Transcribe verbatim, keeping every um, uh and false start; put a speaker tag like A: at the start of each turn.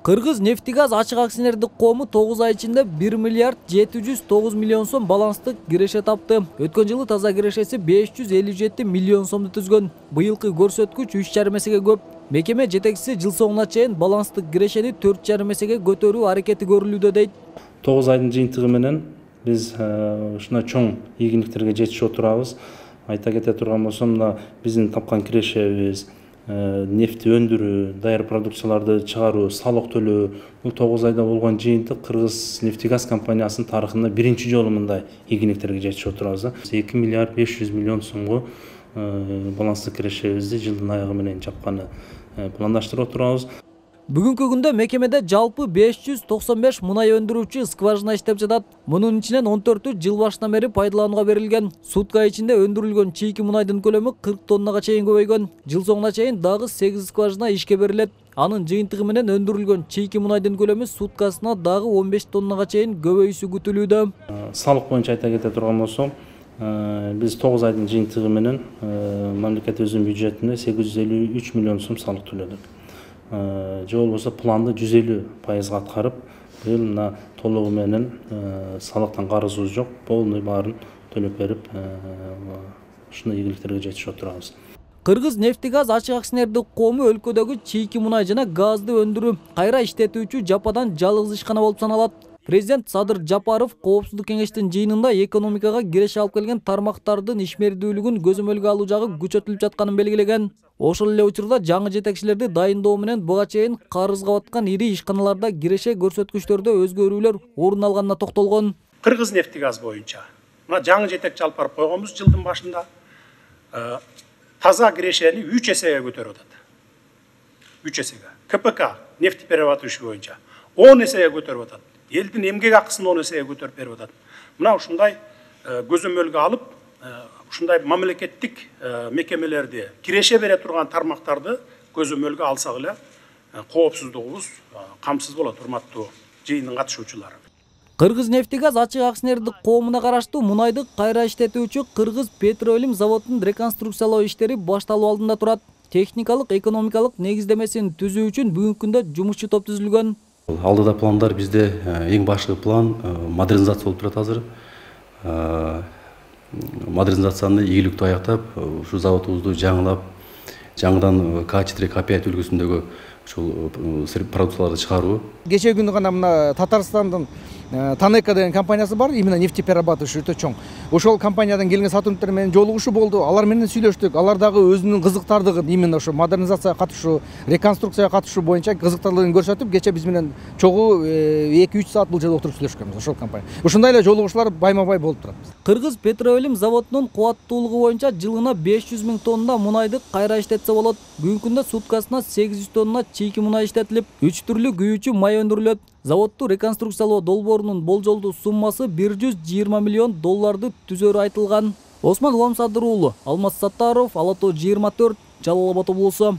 A: Кыргыз нефтегаз ачык акционердик коому тогуз ай ичинде бир миллиард жети жүз тогуз миллион сом баланстык киреше тапты. Өткөн жылы таза кирешеси беш жүз элүү жети миллион сомду түзгөн. Быйылкы көрсөткүч үч жарым эсеге көп. Мекеме жетекчиси жыл соңуна чейин баланстык кирешени төрт жарым эсеге көтөрүү аракети көрүлүүдө дейт.
B: тогуз айдын жыйынтыгы менен биз ушундай чоң ийгиликтерге жетишип отурабыз. Айта кете турган болсом, мына биздин тапкан кирешебиз, нефти өндүрүү, даяр продукцияларды чыгаруу, салык төлөө, бул тогуз айда болгон жыйынтык Кыргыз нефтегаз компаниясынын тарыхында биринчи жолу мындай ийгиликтерге жетишип отурабыз. эки миллиард беш жүз миллион сомго баланстык кирешебизди жылдын аягы менен жапканы пландаштырып отурабыз.
A: Бүгүнкү күндө мекемеде жалпы беш жүз токсон беш мунай өндүрүүчү скважина иштеп жатат. Мунун ичинен он төртү жыл башынан бери пайдаланууга берилген. Сутка ичинде өндүрүлгөн чийки мунайдын көлөмү кырк тоннага чейин көбөйгөн. Жыл соңуна чейин дагы сегиз скважина ишке берилет. Анын жыйынтыгы менен өндүрүлгөн чийки мунайдын көлөмү суткасына дагы он беш тоннага чейин көбөйүшү күтүлүүдө.
B: Салык боюнча айта кете турган болсом, биз тогуз айдын жыйынтыгы менен мамлекетибиздин бюджетине сегиз жүз элүү үч миллион сом салык төлөдүк. Же болбосо планды жүз элүү пайызга аткарып, быйыл мына толугу менен салыктан карызыбыз жок, полный баарын төлөп берип, ушундай ийгиликтерге жетишип отурабыз.
A: Кыргыз нефтегаз ачык акционердик коому өлкөдөгү чийки мунай жана газды өндүрүү, кайра иштетүүчү жападан жалгыз ишкана болуп саналат. Президент Садыр Жапаров Коопсуздук кеңештин жыйынында экономикага киреше алып келген тармактардын ишмердүүлүгүн көзөмөлгө алуу жагы күчөтүлүп жатканын белгилеген. Ошол эле учурда жаңы жетекчилерди дайындоо менен буга чейин карызга баткан ири ишканаларда киреше көрсөткүчтөрдө өзгөрүүлөр орун алганына токтолгон.
C: Кыргыз нефтегаз боюнча мына жаңы жетекчи алып барып койгонбуз жылдын башында. Таза кирешени үч эсеге көтөрүп атат. үч эсеге. КПК нефтеперерабатывающий боюнча он эсеге көтөрүп атат. Элдин эмгек акысын он эсеге көтөрүп берип атат. Мына ушундай көзөмөлгө алып, ушундай мамлекеттик мекемелерди киреше бере турган тармактарды көзөмөлгө алсак эле коопсуздугубуз камсыз болот, урматтуу жыйындын катышуучулары.
A: Кыргыз нефтегаз ачык акционердик коомуна караштуу мунайды кайра иштетүүчү Кыргыз Петроилим заводунун реконструкциялоо иштери башталуу алдында турат. Техникалык, экономикалык негиздемесин түзүү үчүн бүгүнкү күндө жумушчу топ түзүлгөн.
D: Алдыда пландар бизде эң башкы план модернизация болуп турат азыр. Модернизацияны ийгиликтүү аяктап, ушу заводубузду жаңылап, жаңыдан К четыре К пять үлгүсүндөгү ушул продукцияларды чыгаруу.
E: Кечээ күнү гана мына Татарстандын Танека деген компаниясы бар, именно нефтеперерабатывающий өтө чоң. Ошол компаниядан келген сотрудниктер менен жолугушуу болду. Алар менен сүйлөштүк. Алар дагы өзүнүн кызыктардыгын, именно ошо модернизацияга катышуу, реконструкцияга катышуу боюнча кызыктардыгын көрсөтүп, кечээ биз менен чогуу эки үч саат бул жерде отуруп сүйлөшкөнбүз ошол компания. Ушундай эле жолугушуулар байма-бай болуп турат.
A: Кыргыз Петроилим заводунун кубаттуулугу боюнча жылына беш жүз миң тонна мунайды кайра иштетсе болот. Бүгүнкү күндө суткасына сегиз жүз тонна чийки мунай иштетилип, үч түрлүү күйүүчү май өндүрүлөт. Заводду реконструкциялоо долбоорунун болжолдуу суммасы бир жүз жыйырма миллион долларды түзөрү айтылган. Осмон Уламсадыр уулу, Алмаз Саттаров, Ала Тоо жыйырма төрт, Жалал Абад облусу.